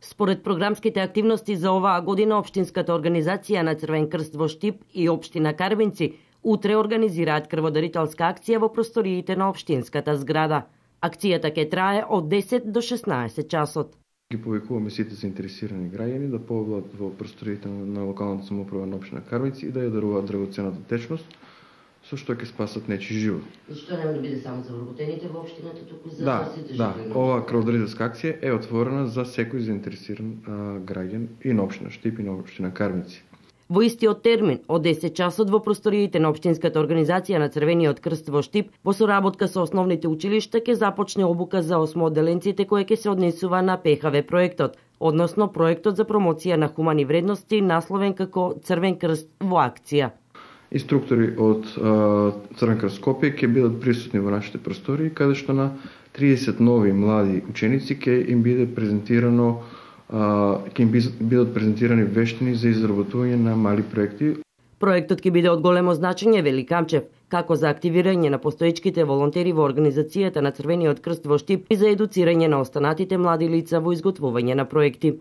Според програмските активности за оваа година, Општинската организација на Црвен крст во Штип и Општина Карвинци утре организираат крводарителска акција во просториите на општинската зграда. Акцијата ќе трае од 10 до 16 часот. Ги повикуваме сите заинтересирани граѓани да поведат во просториите на локалната самоуправа на општина Карвинци и да ја даруваат драгоценната течност, со што ќе спасат нечи живот. Зашто нема да биде само за вработените во општината, туку за сите жители? Да, оваа крводарителска акција е отворена за секој заинтересиран граѓан и на општина Штип и на општина Карвинци. Во истиот термин, од 10 часот во просториите на Општинската организација на Црвениот крст во Штип, во соработка со основните училишта ќе започне обука за осмоделенците која ќе се однесува на ПХВ проектот, односно проектот за промоција на хумани вредности насловен како Црвен крст во акција. Инструктори од Црвен крст Скопје ќе бидат присутни во нашите простории, каде што на 30 нови млади ученици ќе им биде презентирано ќе им бидат презентирани вештини за изработување на мали проекти. Проектот ќе биде од големо значење, вели Камчев, како за активирање на постоечките волонтери во организацијата на Црвениот крст во Штип и за едуцирање на останатите млади лица во изготвување на проекти.